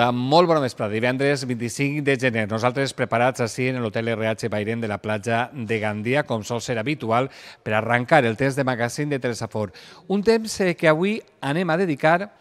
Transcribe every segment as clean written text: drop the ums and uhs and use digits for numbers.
Hola, molt bona vesprada. Divendres 25 de gener. Nosaltres preparats així en l'Hotel RH Bairén de la platja de Gandia, com sol ser habitual, per arrencar el temps de magazín de Telesafor. Un temps que avui anem a dedicar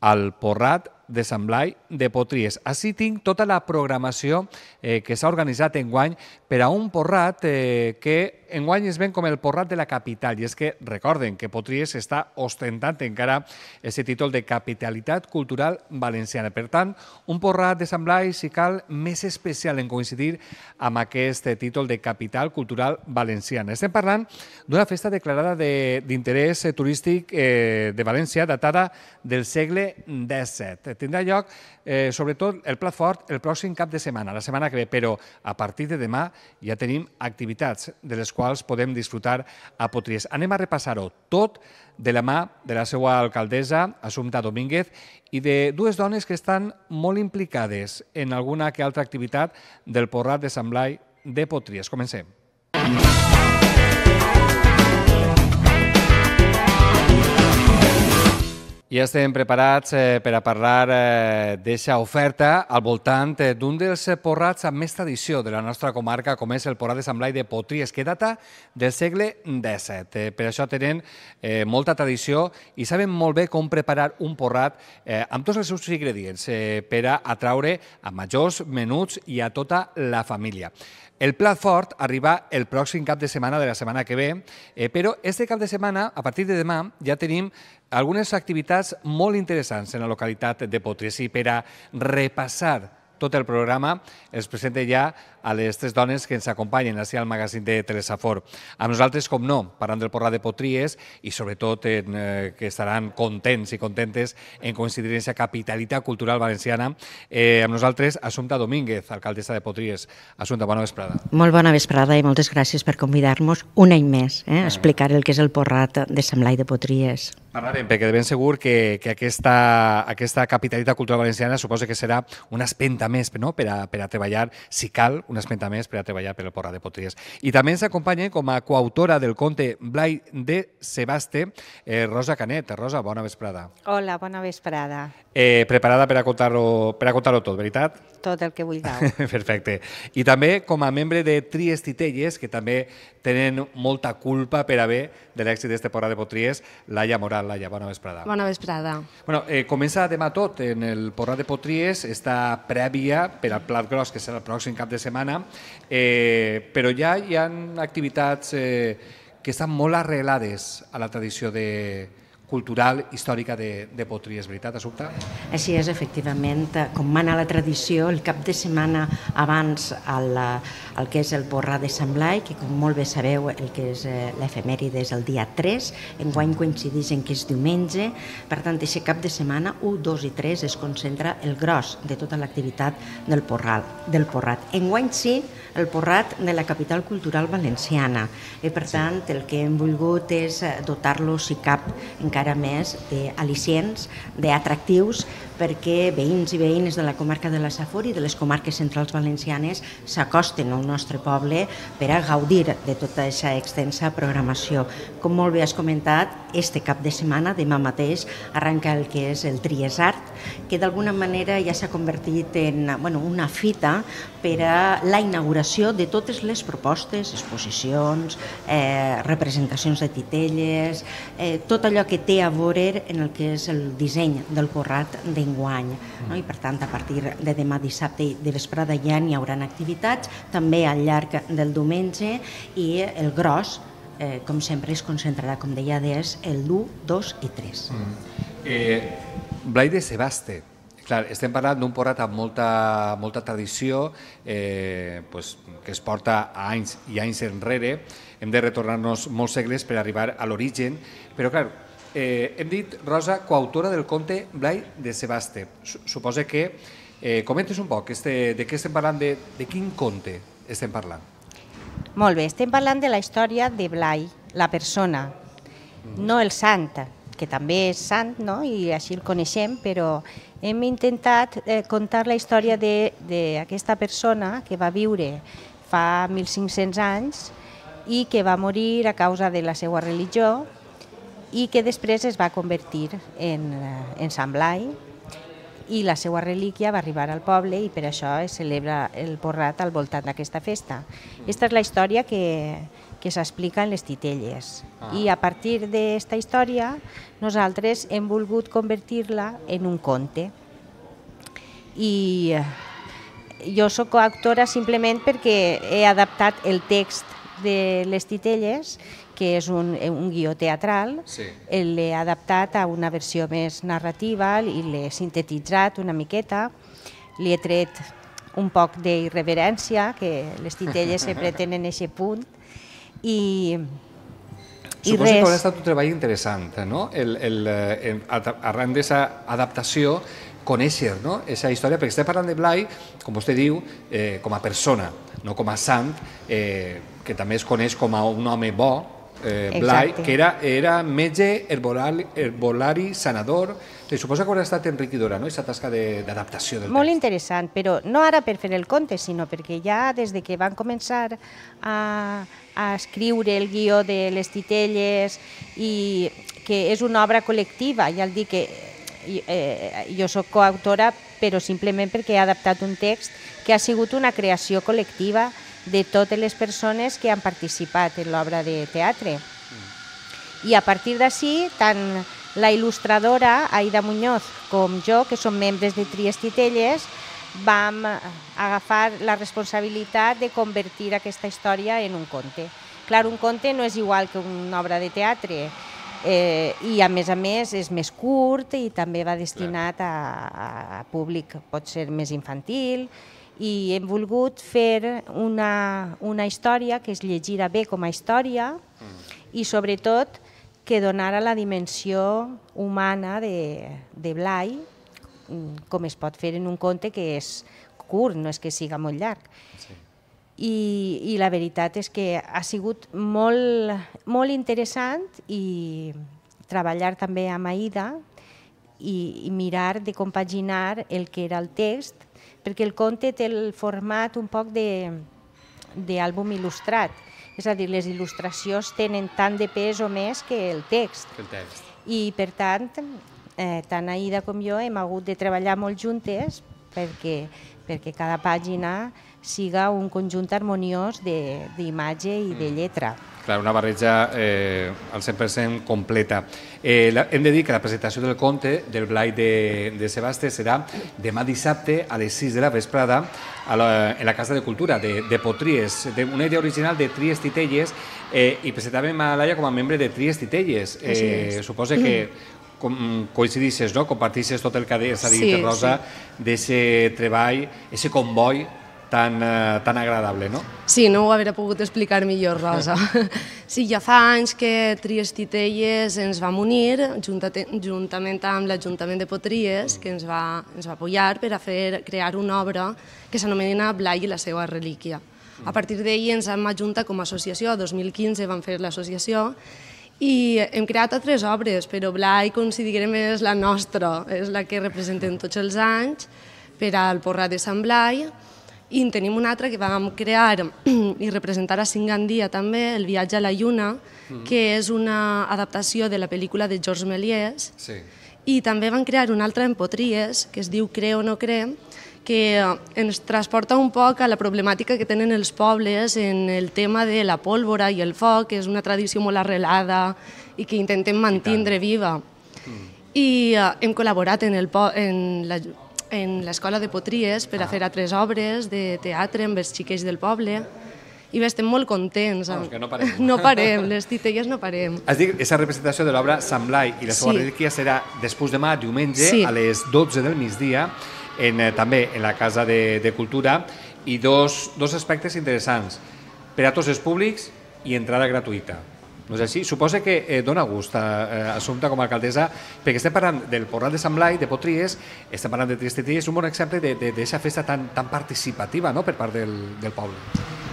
al Porrat de Sant Blai de Potries. Així tinc tota la programació que s'ha organitzat enguany per a un porrat que enguany es ven com el porrat de la capital. I és que recorden que Potries està ostentant encara aquest títol de capitalitat cultural valenciana. Per tant, un porrat de Sant Blai, si cal, més especial en coincidir amb aquest títol de capital cultural valenciana. Estem parlant d'una festa declarada d'interès turístic de València datada del segle XVII. Tindrà lloc, sobretot, el plat fort el pròxim cap de setmana, la setmana que ve, però a partir de demà ja tenim activitats de les quals podem disfrutar a Potries. Anem a repassar-ho tot de la mà de la seva alcaldessa, Assumpta Domínguez, i de dues dones que estan molt implicades en alguna que altra activitat del Porrat de Sant Blai de Potries. Comencem. Ja estem preparats per a parlar d'aquesta oferta al voltant d'un dels porrats amb més tradició de la nostra comarca, com és el Porrat de Sant Blai de Potries, que data del segle XVII. Per això tenen molta tradició i saben molt bé com preparar un porrat amb tots els seus ingredients per a atraure a majors, menuts i a tota la família. El plat fort arriba el pròxim cap de setmana de la setmana que ve, però este cap de setmana, a partir de demà, ja tenim algunes activitats molt interessants en la localitat de Potries. I per a repassar tot el programa els presento ja a les tres dones que ens acompanyen així al magazín de Telesafor. Amb nosaltres, com no, parlant del Porrat de Potries i sobretot que estaran contents i contentes en coincidir en aquesta capitalitat cultural valenciana. Amb nosaltres, Assumpta Domínguez, alcaldessa de Potries. Assumpta, bona vesprada. Molt bona vesprada i moltes gràcies per convidar-nos un any més a explicar el que és el Porrat de Sant Blai de Potries. Parlarem, perquè de ben segur que aquesta capitalitat cultural valenciana suposa que serà una espenta més per a treballar, si cal, una espenta més per a treballar per el Porrat de Potries. I també ens acompanya com a coautora del conte Blai de Sebaste, Rosa Canet. Rosa, bona vesprada. Hola, bona vesprada. Preparada per a contar-ho tot, veritat? Tot el que vulgueu. Perfecte. I també com a membre de Tries Titelles, que també tenen molta culpa per haver de l'èxit d'este Porrat de Potries, Laia Moral. Laia, bona vesprada. Bona vesprada. Comença demà tot en el Porrat de Potries, està prèvia per al plat gros, que serà el pròxim cap de setmana, però ja hi ha activitats que estan molt arrelades a la tradició cultural històrica de Potries, veritat, Assumpta? Així és, efectivament. Com mana la tradició, el cap de setmana abans el que és el Porrat de Sant Blai, que com molt bé sabeu el que és l'efemèride és el dia 3, enguany coincideix en que és diumenge, per tant, aquest cap de setmana, 1, 2 i 3 es concentra el gros de tota l'activitat del Porrat. Enguany sí, el Porrat de la capital cultural valenciana, i per tant el que hem volgut és dotar-lo, si cap, encara més d'al·licients, d'atractius, perquè veïns i veïnes de la comarca de la Safor i de les comarques centrals valencianes s'acosten al nostre poble per a gaudir de tota aquesta extensa programació. Com molt bé has comentat, este cap de setmana, demà mateix, arrenca el que és el Tries Art, que d'alguna manera ja s'ha convertit en una fita per a la inauguració de totes les propostes, exposicions, representacions de titelles, tot allò que té a veure en el que és el disseny del Porrat d'enguany. I per tant, a partir de demà dissabte de vesprada ja n'hi haurà activitats, també al llarg del diumenge, i el gros, com sempre, es concentrarà, com deia, des el 1, 2 i 3. Blai de Sebaste. Clar, estem parlant d'un porrat amb molta tradició, que es porta anys i anys enrere. Hem de retornar-nos molts segles per arribar a l'origen, però clar, hem dit, Rosa, coautora del conte Blai de Sebaste. Suposa que comentes un poc de què estem parlant, de quin conte estem parlant. Molt bé, estem parlant de la història de Blai, la persona, no el sant, que també és sant, i així el coneixem, però hem intentat contar la història d'aquesta persona que va viure fa 1.500 anys i que va morir a causa de la seva religió i que després es va convertir en Sant Blai i la seva relíquia va arribar al poble i per això es celebra el porrat al voltant d'aquesta festa. Aquesta és la història que s'explica en les titelles. I a partir d'aquesta història nosaltres hem volgut convertir-la en un conte. I jo soc coautora simplement perquè he adaptat el text de les titelles, que és un guió teatral, l'he adaptat a una versió més narrativa i l'he sintetitzat una miqueta, li he tret un poc d'irreverència, que les titelles sempre tenen aquest punt, i suposo que haurà estat un treball interessant, no? Arran d'aquesta adaptació, conèixer aquesta història, perquè estem parlant de Blai, com vostè diu, com a persona, no com a sant, que també es coneix com a un home bo, Blai, que era metge, herbolari, sanador. Suposo que haurà estat enriquidora, aquesta tasca d'adaptació del text. Molt interessant, però no ara per fer el conte, sinó perquè ja des que van començar a escriure el guió de les titelles, i que és una obra col·lectiva, ja el dic que jo soc coautora, però simplement perquè he adaptat un text que ha sigut una creació col·lectiva de totes les persones que han participat en l'obra de teatre. I a partir d'ací, tant la il·lustradora Aida Muñoz com jo, que som membres de Tries Titelles, vam agafar la responsabilitat de convertir aquesta història en un conte. Clar, un conte no és igual que una obra de teatre, i a més és més curt i també va destinat a públic, pot ser més infantil, i hem volgut fer una història que es llegirà bé com a història i sobretot que donara la dimensió humana de Blai, com es pot fer en un conte que és curt, no és que siga molt llarg. I la veritat és que ha sigut molt interessant i treballar també amb Aida i mirar de compaginar el que era el text, perquè el conte té el format un poc d'àlbum il·lustrat, és a dir, les il·lustracions tenen tant de pes o més que el text. I per tant, tant Aida com jo hem hagut de treballar molt juntes perquè cada pàgina siga un conjunt harmoniós d'imatge i de lletra. Clar, una barreja al 100% completa. Hem de dir que la presentació del conte del Blai de Sebastes serà demà dissabte a les 6 de la vesprada en la Casa de Cultura de Potries, una idea original de Tries Titelles, i presentàvem a Laia com a membre de Tries Titelles. Suposa que coincidixes, compartixes tot el que s'ha dit, Rosa, d'aquest treball, aquest comboi tan agradable, no? Sí, no ho hauria pogut explicar millor, Rosa. Sí, ja fa anys que Tries Titelles ens vam unir, juntament amb l'Ajuntament de Potries, que ens va apoyar per a crear una obra que s'anomena Blai i la seva relíquia. A partir d'ahir ens hem ajuntat com a associació, a 2015 vam fer l'associació, i hem creat altres obres, però Blai considerem és la nostra, és la que representem tots els anys per al Porrat de Sant Blai. I en tenim una altra que vam crear i representar a Gandia també, El viatge a la lluna, que és una adaptació de la pel·lícula de Georges Méliès. I també vam crear una altra en Potries, que es diu Cree o no cree, que ens transporta un poc a la problemàtica que tenen els pobles en el tema de la pólvora i el foc, que és una tradició molt arrelada i que intentem mantenir viva. I hem col·laborat en l'escola de Potries per a fer altres obres de teatre amb els xiquets del poble i estem molt contents. Que no parem. No parem, les titelles no parem. Has dit que aquesta representació de l'obra Sant Blai i la seva relíquia serà després demà, diumenge, a les 12 del migdia, també en la Casa de Cultura, i dos aspectes interessants, per a tots els públics i entrada gratuïta. No és així? Suposa que dona gust a Assumpta com a alcaldessa, perquè estem parlant del Porrat de Sant Blai, de Potries, estem parlant de Tries Titelles, és un bon exemple d'aquesta festa tan participativa per part del poble.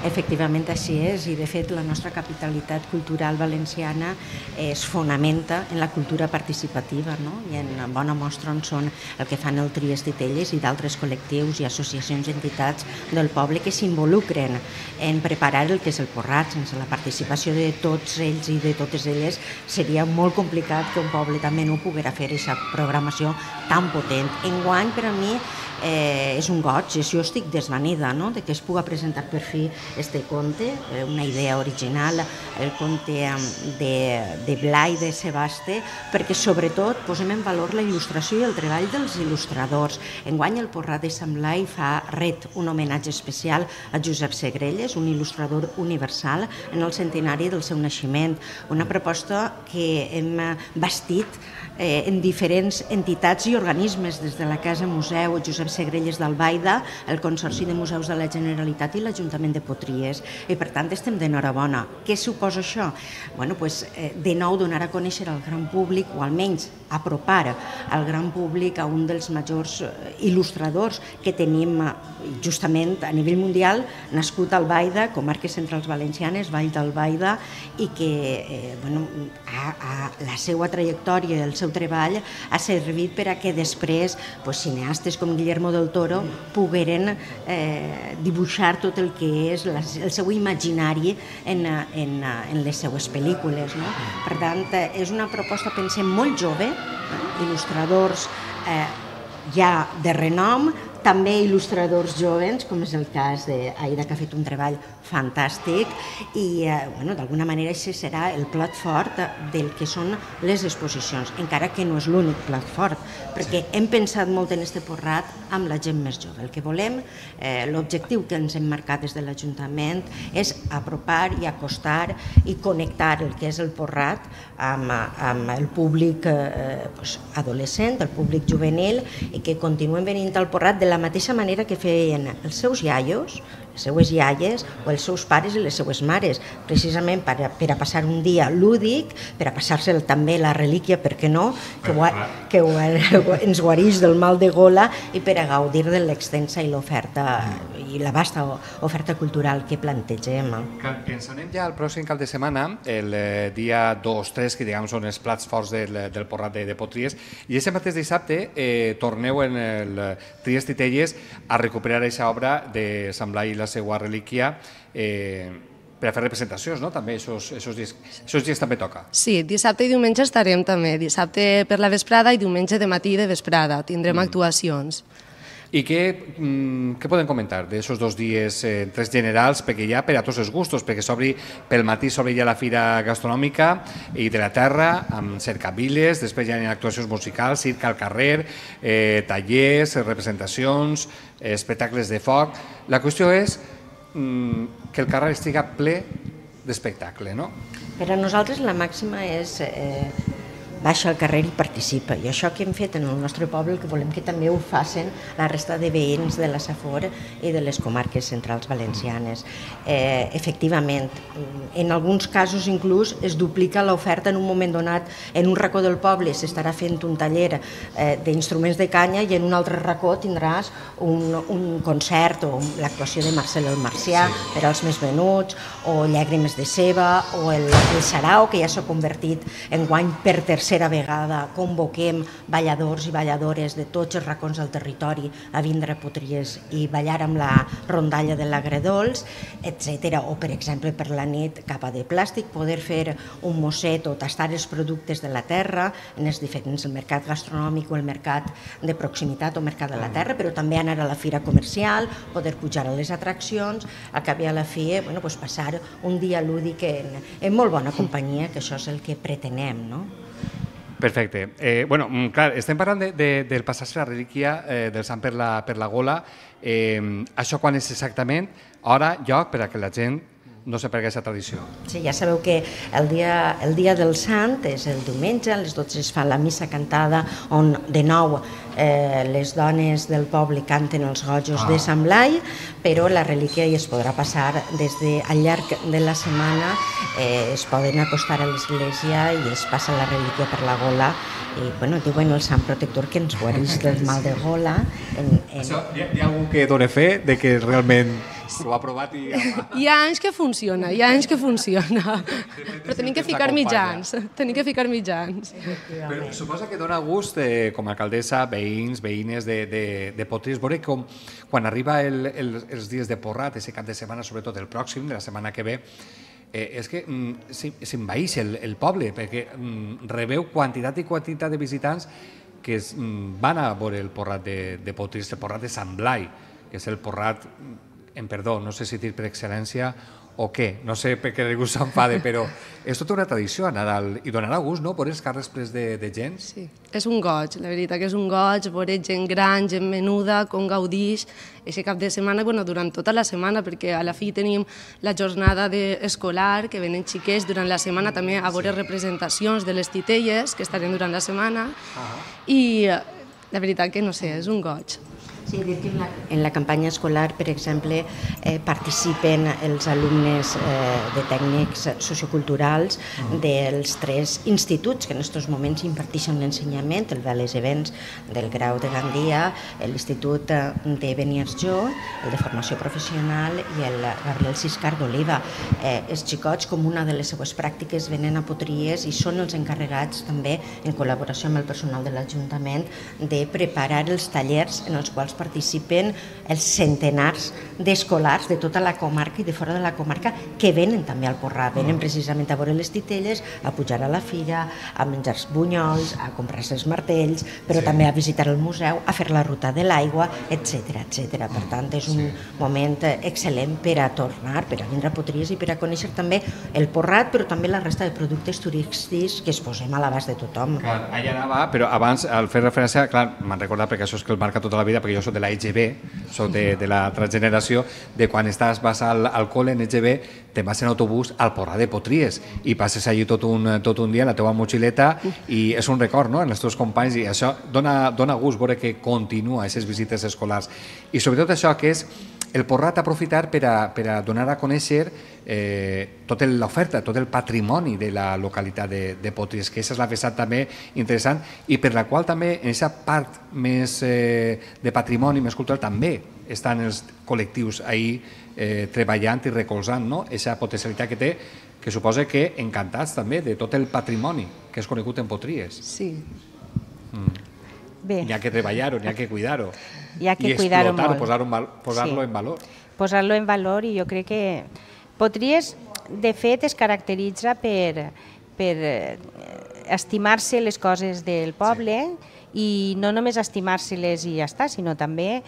Efectivament, així és, i de fet la nostra capitalitat cultural valenciana es fonamenta en la cultura participativa, no? I en bona mostra on són el que fan el Trias Titelles i d'altres col·lectius i associacions i entitats del poble que s'involucren en preparar el que és el Porrat. Sense la participació de tots ells i de totes elles seria molt complicat que un poble també no poguera fer aquesta programació tan potent. Enguany, per a mi, és un goig, jo estic desvanida, no?, de que es puga presentar per fi este conte, una idea original, el conte de Blai de Sebaste, perquè sobretot posem en valor la il·lustració i el treball dels il·lustradors. Enguany el Porrat de Sant Blai ret un homenatge especial a Josep Segrelles, un il·lustrador universal, en el centenari del seu naixement, una proposta que hem bastit en diferents entitats i organismes, des de la Casa Museu Josep Segrelles d'Albaida, el Consorci de Museus de la Generalitat i l'Ajuntament de Potries. I per tant estem d'enhorabona. Què suposa això? Bueno, de nou donar a conèixer al gran públic, o almenys apropar al gran públic a un dels majors il·lustradors que tenim justament a nivell mundial, nascut a Albaida, comarques centrals valencianes, Vall d'Albaida, i que la seva trajectòria i el seu treball ha servit per a que després cineastes com Guillermo del Toro pogueren dibuixar tot el que és el seu imaginari en les seues pel·lícules. Per tant, és una proposta, pensem, molt jove, il·lustradors ja de renom, també il·lustradors jovens, com és el cas d'Aida, que ha fet un treball fantàstic, i d'alguna manera això serà el plat fort del que són les exposicions, encara que no és l'únic plat fort, perquè hem pensat molt en este Porrat amb la gent més jove. El que volem, l'objectiu que ens hem marcat des de l'Ajuntament és apropar i acostar i connectar el que és el Porrat amb el públic adolescent, el públic juvenil, i que continuen venint al Porrat de la mateixa manera que feien els seus iaios, les seues iaies o els seus pares i les seues mares, precisament per a passar un dia lúdic, per a passar-se també la relíquia, per què no, que ens guareix del mal de gola, i per a gaudir de l'extensa i l'oferta i la vasta oferta cultural que plantegem. Ens anem ja al pròxim cap de setmana, el dia 2-3, que diguem són els plats forts del Porrat de Potries, i aquest mateix dissabte torneu en el Trias Titelles a recuperar aquesta obra de Sant Blai i la seva relíquia per a fer representacions, no? També aquests dies també toca. Sí, dissabte i diumenge estarem també, dissabte per la vesprada i diumenge de matí i de vesprada, tindrem actuacions. I què podem comentar d'aquests 2 dies, tres generals, perquè hi ha per a tots els gustos, perquè pel matí s'obre ja la fira gastronòmica i de la terra, amb cercaviles, després hi ha actuacions musicals, circ al carrer, tallers, representacions, espectacles de foc. La qüestió és que el carrer estiga ple d'espectacle, no? Per a nosaltres la màxima és baixa al carrer i participa. I això que hem fet en el nostre poble, que volem que també ho facin la resta de veïns de la Safor i de les comarques centrals valencianes. Efectivament, en alguns casos inclús es duplica l'oferta en un moment donat. En un racó del poble s'estarà fent un taller d'instruments de canya i en un altre racó tindràs un concert o l'actuació de Marcel el Marcià per als més venuts, o Llàgrimes de Ceba, o el Sarau, que ja s'ha convertit enguany per tercera vegada. Convoquem balladors i balladores de tots els racons del territori a vindre a Potries i ballar amb la rondalla de l'Agredols, etc. O, per exemple, per la nit Capa de Plàstic, poder fer un mosset o tastar els productes de la terra en els diferents, el mercat gastronòmic o el mercat de proximitat o mercat de la terra, però també anar a la fira comercial, poder pujar a les atraccions, al cap i a la fi passar un dia lúdic en molt bona companyia, que això és el que pretenem, no? Perfecte. Clar, estem parlant del passar-se la relíquia del sant per la gola. Això quan és exactament? Hora, lloc, per a que la gent no sé per què aquesta tradició. Sí, ja sabeu que el dia del Sant és el diumenge, a les 12 es fa la missa cantada, on de nou les dones del poble canten els gojos de Sant Blai, però la relíquia ja es podrà passar al llarg de la setmana, es poden acostar a l'església i es passa la relíquia per la gola i bueno, diuen el sant protector que ens guarís del mal de gola. Hi ha algú que dona fe de que realment ho ha provat i... Hi ha anys que funciona, però tenim que ficar mitjans, Però suposa que dona gust, com a alcaldessa, veïns, veïnes de Potries, veure com quan arriba els dies de Porrat, aquest cap de setmana, sobretot el pròxim, de la setmana que ve, és que s'envaeix el poble, perquè rebeu quantitat i quantitat de visitants que van a veure el Porrat de Potries, el Porrat de Sant Blai, que és el Porrat, en perdó, no sé si dir per excel·lència o què, no sé per què ningú s'enfade, però és tota una tradició a Nadal i donarà gust, no?, veure els carrers plens de gent. Sí, és un goig, la veritat que és un goig, veure gent gran, gent menuda, com gaudix, aquest cap de setmana, durant tota la setmana, perquè a la fi tenim la jornada escolar, que venen xiquets durant la setmana també a veure representacions de les titelles que estarem durant la setmana, i la veritat que no sé, és un goig. Sí, dir que en la campanya escolar, per exemple, participen els alumnes de tècnics socioculturals dels 3 instituts que en aquests moments imparteixen l'ensenyament, el Veles Events del Grau de Gandia, l'Institut de Beniarjó, el de Formació Professional i el Gabriel Siscar d'Oliva. Els xicots, com una de les seues pràctiques, venen a Potries i són els encarregats també, en col·laboració amb el personal de l'Ajuntament, de preparar els tallers en els quals participen els centenars d'escolars de tota la comarca i de fora de la comarca que venen també al Porrat, venen precisament a veure les titelles, a pujar a la fira, a menjar bunyols, a comprar-se els martells, però també a visitar el museu, a fer la ruta de l'aigua, etc. Per tant, és un moment excel·lent per a tornar, per a vindre a Potries i per a conèixer també el Porrat, però també la resta de productes turístics que es posem a l'abast de tothom. Clar, allà anava, però abans, al fer referència, clar, m'han recordat, perquè això és que el marca tota la vida, perquè jo soc de la EGB, soc de la transgeneració, de quan vas al col·le en EGB, te'n vas en autobús al Porrat de Potries i passes allí tot un dia en la teva motxileta i és un record, no?, en els teus companys, i això dona gust veure que continua aquestes visites escolars. I sobretot això, que és el Porrat aprofitar per a donar a conèixer tota l'oferta, tot el patrimoni de la localitat de Potries, que aquesta és la vessant també interessant i per la qual també en aquesta part més de patrimoni, més cultural, també estan els col·lectius ahí treballant i recolzant aquesta potencialitat que té, que suposa que encantats també de tot el patrimoni que és conegut en Potries. Sí. Bé. N'hi ha que treballar-ho, n'hi ha que cuidar-ho. Hi ha que cuidar-ho molt. Posar-lo en valor. Posar-lo en valor, i jo crec que Potries, de fet, es caracteritza per estimar-se les coses del poble i no només estimar-se-les i ja està, sinó també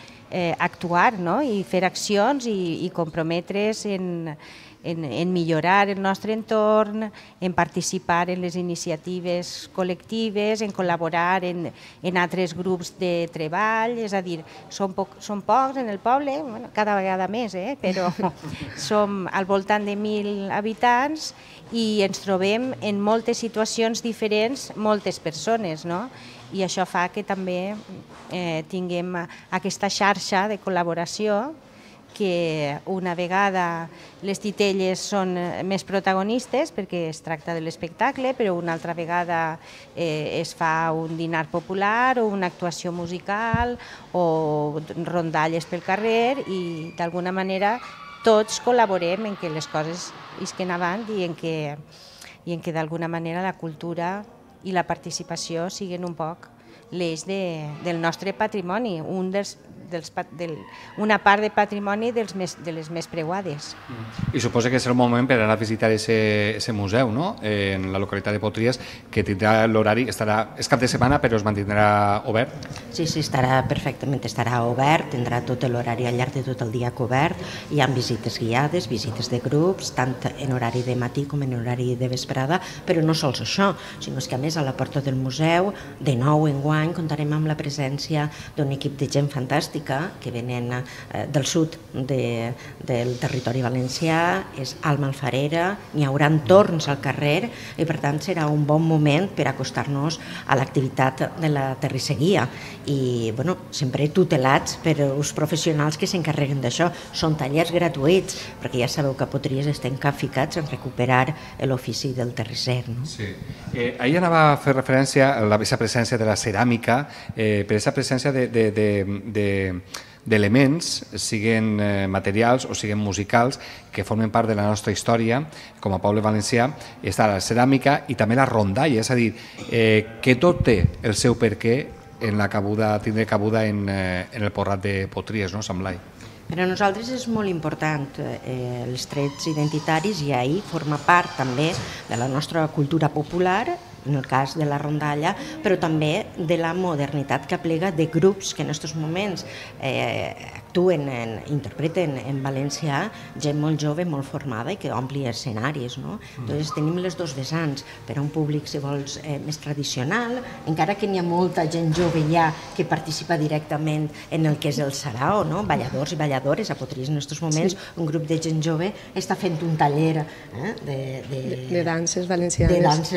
actuar i fer accions i comprometre's en millorar el nostre entorn, en participar en les iniciatives col·lectives, en col·laborar en altres grups de treball, és a dir, som pocs en el poble, cada vegada més, però som al voltant de 1.000 habitants i ens trobem en moltes situacions diferents, moltes persones, i això fa que també tinguem aquesta xarxa de col·laboració que una vegada les titelles són més protagonistes perquè es tracta de l'espectacle, però una altra vegada es fa un dinar popular o una actuació musical o rondalles pel carrer i d'alguna manera tots col·laborem en que les coses isquen avant i en que d'alguna manera la cultura i la participació siguin un poc l'eix del nostre patrimoni, una part de patrimoni de les més preuades. I suposa que és el moment per anar a visitar aquest museu, en la localitat de Potries, que tindrà l'horari, és cap de setmana, però es mantindrà obert? Sí, estarà perfectament, estarà obert, tindrà tot l'horari al llarg de tot el dia cobert, hi ha visites guiades, visites de grups, tant en horari de matí com en horari de vesprada, però no sols això, sinó que a més a la porta del museu, de nou enguany, comptarem amb la presència d'un equip de gent fantàstic plàstica que venen del sud del territori valencià, és Alma Alfarera, n'hi haurà torns al carrer i per tant serà un bon moment per acostar-nos a l'activitat de la terrisseguia i sempre tutelats per els professionals que s'encarreguen d'això. Són tallers gratuïts, perquè ja sabeu que a Potries estem capficats en recuperar l'ofici del terrisser. Ahir anava a fer referència a la presència de la ceràmica, per aquesta presència d'elements, siguin materials o siguin musicals, que formen part de la nostra història com a poble valencià. Està la ceràmica i també la rondalla, és a dir, que tot té el seu perquè en la cabuda, tindre cabuda en el Porrat de Potries, no, Sant Blai? Per a nosaltres és molt important els trets identitaris i ahir forma part també de la nostra cultura popular, en el cas de la rondalla, però també de la modernitat que aplega de grups que en aquests moments actuen, interpreten en valencià, gent molt jove, molt formada i que ompli escenaris. Entonces tenim les dos vessants, per a un públic, si vols, més tradicional, encara que n'hi ha molta gent jove ja que participa directament en el que és el sarao, balladors i balladores. A Potries en aquests moments un grup de gent jove està fent un taller de danses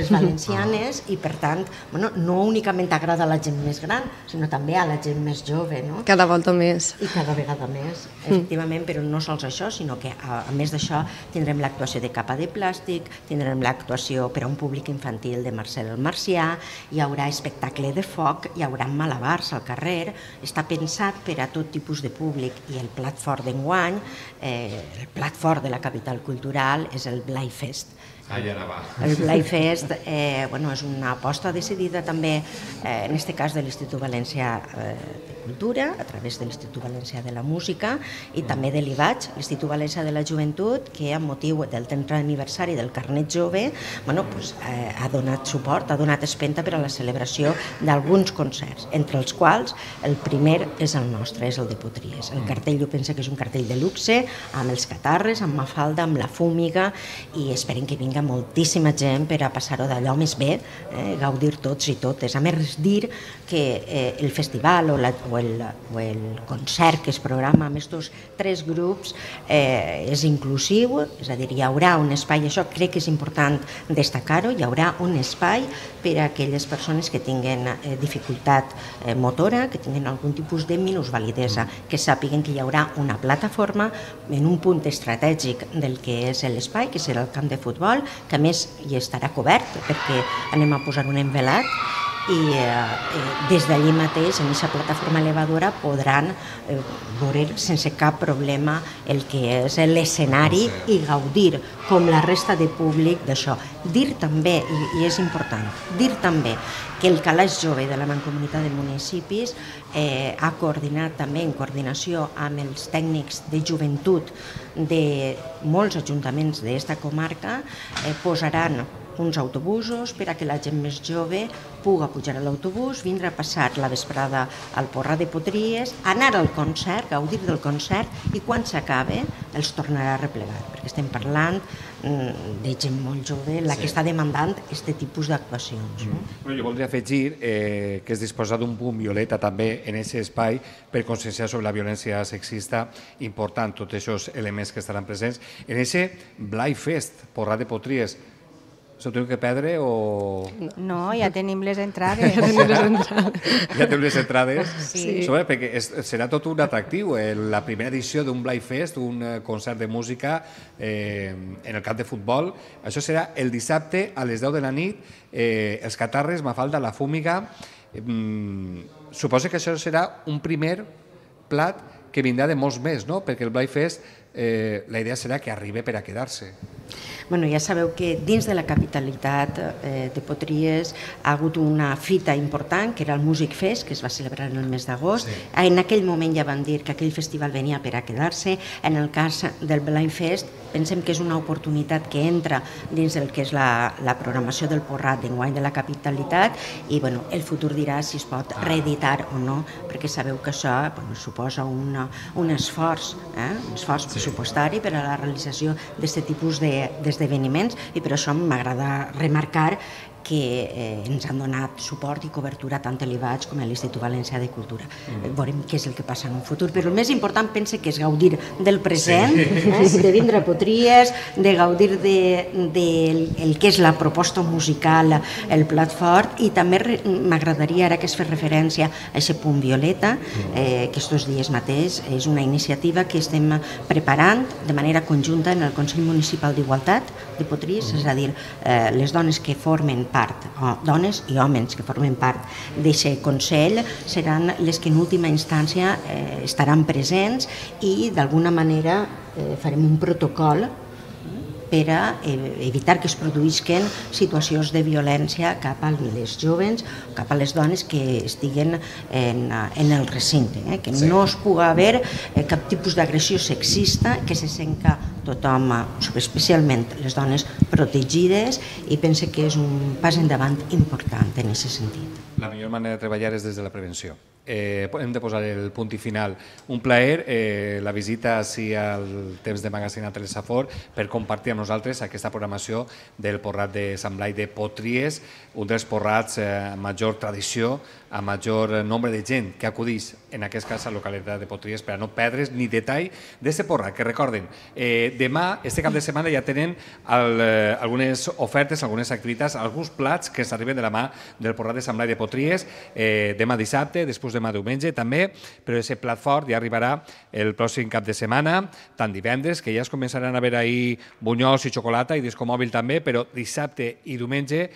valencianes, i per tant no únicament agrada a la gent més gran, sinó també a la gent més jove. Cada volta més. I cada vegada més, efectivament, però no sols això, sinó que a més d'això tindrem l'actuació de Capa de Plàstic, tindrem l'actuació per a un públic infantil de Marcel el Marcià, hi haurà espectacle de foc, hi haurà malabars al carrer, està pensat per a tot tipus de públic i el plat fort d'enguany, el plat fort de la capital cultural és el Blai Fest. El Blai Fest és una aposta decidida també, en aquest cas de l'Institut Valencià de Cultura, a través de l'Institut Valencià de la Música i també de l'IVAG, l'Institut Valencià de la Joventut, que amb motiu del 30è aniversari del Carnet Jove ha donat suport, ha donat espenta per a la celebració d'alguns concerts, entre els quals el primer és el nostre, és el de Potries. El cartell jo penso que és un cartell de luxe, amb els catarres, amb Mafalda, amb la Fúmiga, i esperem que vingui moltíssima gent per a passar-ho d'allò més bé, gaudir tots i totes. A més, dir que el festival o el concert que es programa amb aquests tres grups és inclusiu, és a dir, hi haurà un espai, això crec que és important destacar-ho, hi haurà un espai per a aquelles persones que tinguen dificultat motora, que tinguen algun tipus de minusvalidesa, que sàpiguen que hi haurà una plataforma en un punt estratègic del que és l'espai, que serà el camp de futbol, que a més hi estarà cobert perquè anem a posar un envelat i des d'allí mateix, en aquesta plataforma elevadora, podran veure sense cap problema el que és l'escenari i gaudir, com la resta de públic, d'això. Dir també, i és important, dir també que el Calaix Jove de la Mancomunitat de Municipis ha coordinat també en coordinació amb els tècnics de joventut de molts ajuntaments d'esta comarca, posaran uns autobusos per a que la gent més jove puga pujar a l'autobús, vindre a passar la vesprada al Porrat de Potries, anar al concert, gaudir del concert, i quan s'acabe els tornarà a replegar, perquè estem parlant de gent molt jove, la que està demandant aquest tipus d'actuacions. Jo voldria afegir que es disposa d'un punt violeta també en aquest espai per conscienciar sobre la violència sexista, important tots aquests elements que estaran presents. En aquest Blai Fest, Porrat de Potries, s'ho teniu que perdre o...? No, ja tenim les entrades. Ja tenim les entrades? Sí. Perquè serà tot un atractiu. La primera edició d'un Blai Fest, un concert de música en el camp de futbol, això serà el dissabte a les 10 de la nit, els catarres, Mafalda, la Fúmiga. Suposo que això serà un primer plat que vindrà de molts més, no? Perquè el Blai Fest, la idea serà que arribi per a quedar-se. Ja sabeu que dins de la capitalitat de Potries ha hagut una fita important, que era el Music Fest, que es va celebrar en el mes d'agost. En aquell moment ja van dir que aquell festival venia per a quedar-se. En el cas del Blai Fest, pensem que és una oportunitat que entra dins del que és la programació del Porrat d'enguany de la capitalitat i el futur dirà si es pot reeditar o no, perquè sabeu que això suposa un esforç pressupostari per a la realització d'aquest tipus d'esdeveniments, i per això m'agrada remarcar que ens han donat suport i cobertura tant a l'IVAG com a l'Institut Valencià de Cultura. Veurem què és el que passa en un futur, però el més important pense que és gaudir del present, de vindre a Potries, de gaudir del que és la proposta musical, el plat fort, i també m'agradaria, ara que es fa referència a aquest punt violeta, que estos dies mateix és una iniciativa que estem preparant de manera conjunta en el Consell Municipal d'Igualtat de Potries, és a dir, les dones que formen part, dones i homes que formen part d'aquest Consell, seran les que en última instància estaran presents i d'alguna manera farem un protocol per a evitar que es produïsquen situacions de violència cap a les joves, cap a les dones que estiguen en el recinte, que no es pugui haver cap tipus d'agressió sexista, que se senta tothom, especialment les dones, protegides, i pense que és un pas endavant important en aquest sentit. La millor manera de treballar és des de la prevenció. Hem de posar el punt i final. Un plaer, la visita així al temps de Magazine a Telesafor per compartir amb nosaltres aquesta programació del Porrat de Sant Blai de Potries, un dels porrats amb major tradició, amb major nombre de gent que acudeix, en aquest cas a la localitat de Potries, per a no perdre's ni detall d'aquest porrat, que recorden, demà, este cap de setmana, ja tenen algunes ofertes, algunes activitats, alguns plats que s'arriben de la mà del Porrat de Sant Blai de Potries, demà dissabte, després demà diumenge també, però aquest plat fort ja arribarà el pròxim cap de setmana, tant divendres, que ja es començaran a veure ahir bunyols i xocolata i disco mòbil també, però dissabte i diumenge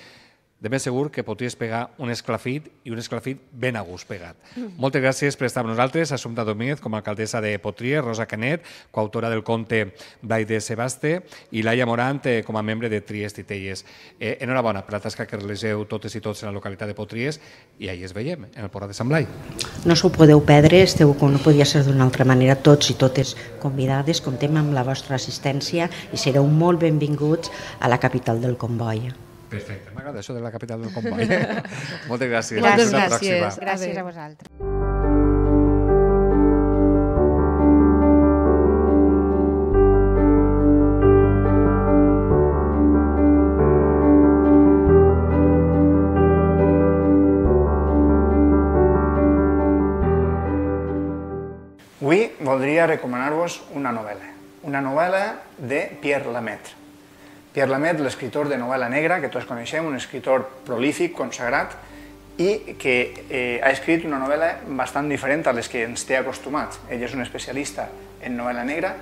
de ben segur que podries pegar un esclafit i un esclafit ben a gust pegat. Moltes gràcies per estar amb nosaltres, Assumpta Domínguez com a alcaldessa de Potries, Rosa Canet, coautora del conte Blai de Sebaste, i Laia Morant com a membre de Tries Titelles. Enhorabona per la tasca que realitzeu totes i tots en la localitat de Potries, i ahir es veiem, en el Porrat de Sant Blai. No s'ho podeu perdre, esteu, com no podia ser d'una altra manera, tots i totes convidades, comptem amb la vostra assistència i sereu molt benvinguts a la capital del comboi. Perfecte, m'agrada això de la capital del comboi. Moltes gràcies. Moltes Fins la gràcies. pròxima. Gràcies a vosaltres. Avui voldria recomanar-vos una novel·la de Pierre Lemaitre. Pierre Lemaitre, l'escriptor de novel·la negra, que tots coneixem, un escriptor prolífic, consagrat, i que ha escrit una novel·la bastant diferent a les que ens té acostumats. Ell és un especialista en novel·la negra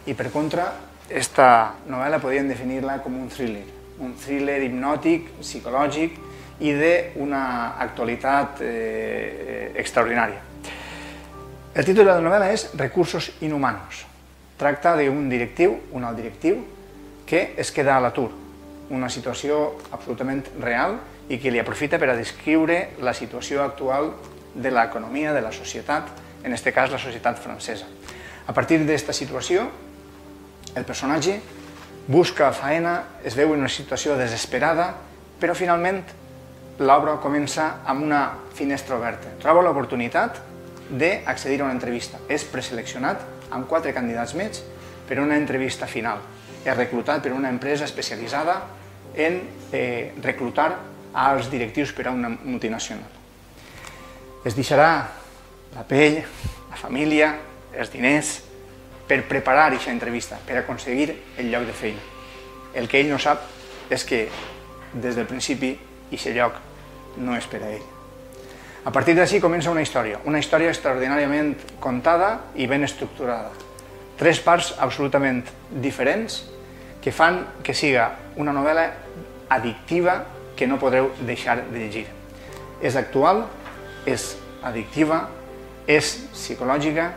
i, per contra, aquesta novel·la podríem definir-la com un thriller hipnòtic, psicològic i d'una actualitat extraordinària. El títol de la novel·la és Recursos inhumanos. Tracta d'un directiu, un alt directiu, que es queda a l'atur, una situació absolutament real i que li aprofita per a descriure la situació actual de l'economia, de la societat, en aquest cas la societat francesa. A partir d'aquesta situació, el personatge busca feina, es veu en una situació desesperada, però finalment l'obra comença amb una finestra oberta. Troba l'oportunitat d'accedir a una entrevista. És preseleccionat amb 4 candidats més per a una entrevista final. És reclutat per una empresa especialitzada en reclutar als directius per a una multinacional. Es deixarà la pell, la família, els diners, per preparar aquesta entrevista, per aconseguir el lloc de feina. El que ell no sap és que, des del principi, aquest lloc no és per a ell. A partir d'ací comença una història extraordinàriament contada i ben estructurada. 3 parts absolutament diferents que fan que siga una novel·la addictiva que no podreu deixar de llegir. És actual, és addictiva, és psicològica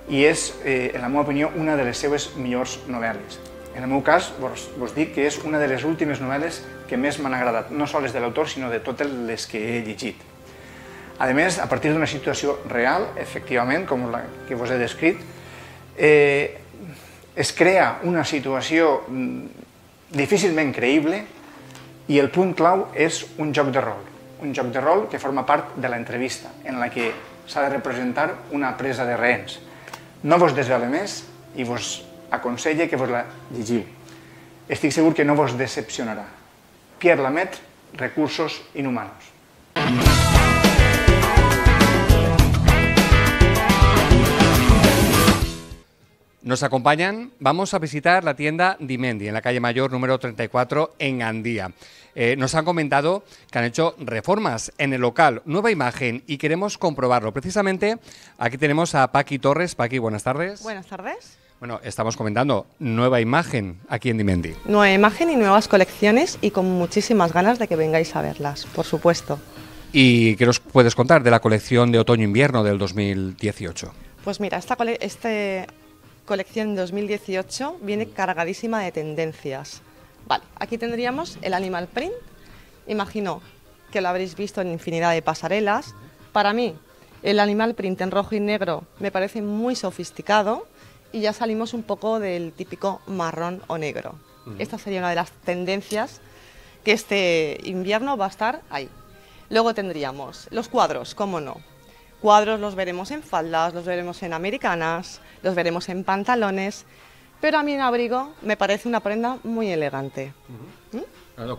i és, en la meva opinió, una de les seves millors novel·les. En el meu cas, vos dic que és una de les últimes novel·les que més m'han agradat, no sols de l'autor, sinó de totes les que he llegit. A més, a partir d'una situació real, efectivament, com la que vos he descrit, es crea una situació difícilment creïble i el punt clau és un joc de rol que forma part de l'entrevista, en la que s'ha de representar una presa de rehens. No vos desvele més i vos aconselle que vos la llegiu. Estic segur que no vos decepcionarà. Pierre Lemaitre, recursos inhumanos. Nos acompañan, vamos a visitar la tienda Dimendi en la calle Mayor número 34 en Gandía. Nos han comentado que han hecho reformas en el local, nueva imagen y queremos comprobarlo. Precisamente aquí tenemos a Paqui Torres. Paqui, buenas tardes. Buenas tardes. Bueno, estamos comentando nueva imagen aquí en Dimendi. Nueva imagen y nuevas colecciones y con muchísimas ganas de que vengáis a verlas, por supuesto. ¿Y qué nos puedes contar de la colección de otoño-invierno del 2018? Pues mira, esta colección 2018 viene cargadísima de tendencias. Vale, aquí tendríamos el animal print. Imagino que lo habréis visto en infinidad de pasarelas. Para mí, el animal print en rojo y negro me parece muy sofisticado y ya salimos un poco del típico marrón o negro. Esta sería una de las tendencias que este invierno va a estar ahí. Luego tendríamos los cuadros, cómo no. Cuadros los veremos en faldas, los veremos en americanas, los veremos en pantalones, pero a mí un abrigo me parece una prenda muy elegante.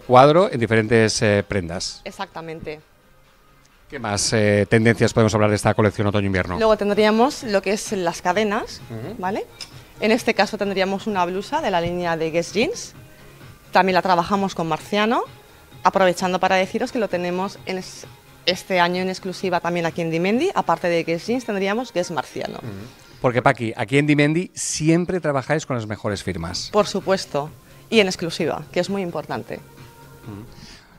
Cuadro en diferentes prendas. Exactamente. ¿Qué más tendencias podemos hablar de esta colección otoño-invierno? Luego tendríamos lo que es las cadenas, ¿vale? En este caso tendríamos una blusa de la línea de Guess Jeans. También la trabajamos con Marciano, aprovechando para deciros que lo tenemos en este año en exclusiva también aquí en Dimendi. Aparte de Guess Jeans tendríamos Guess Marciano. Porque Paqui, aquí en Dimendi siempre trabajáis con las mejores firmas. Por supuesto, y en exclusiva, que es muy importante.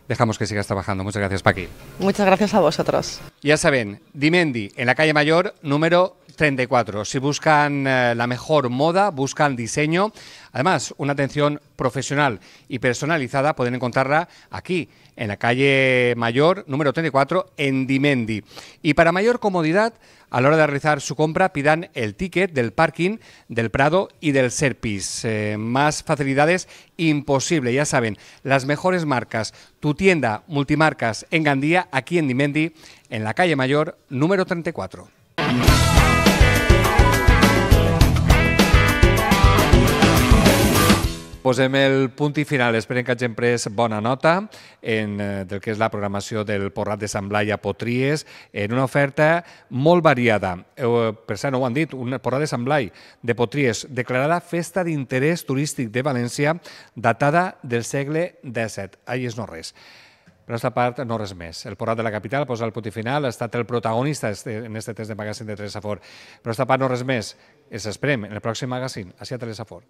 Dejamos que sigas trabajando. Muchas gracias, Paqui. Muchas gracias a vosotros. Ya saben, Dimendi, en la calle Mayor, número 34. Si buscan la mejor moda, buscan diseño, además una atención profesional y personalizada, pueden encontrarla aquí, en la calle Mayor, número 34, en Dimendi. Y para mayor comodidad, a la hora de realizar su compra, pidan el ticket del parking del Prado y del Serpis. Más facilidades imposible, ya saben, las mejores marcas. Tu tienda multimarcas en Gandía, aquí en Dimendi, en la calle Mayor, número 34. Posem el punt i final. Esperem que hagin pres bona nota del que és la programació del Porrat de Sant Blai a Potries, en una oferta molt variada. Per cert, no ho han dit, un Porrat de Sant Blai de Potries, declarada Festa d'Interès Turístic de València, datada del segle XVII. Ahí és no res. Per aquesta part, no res més. El Porrat de la capital posa el punt i final, ha estat el protagonista en este test de magazín de Telesafor. Per aquesta part, no res més. Els esperem en el pròxim magazín, així a Telesafor.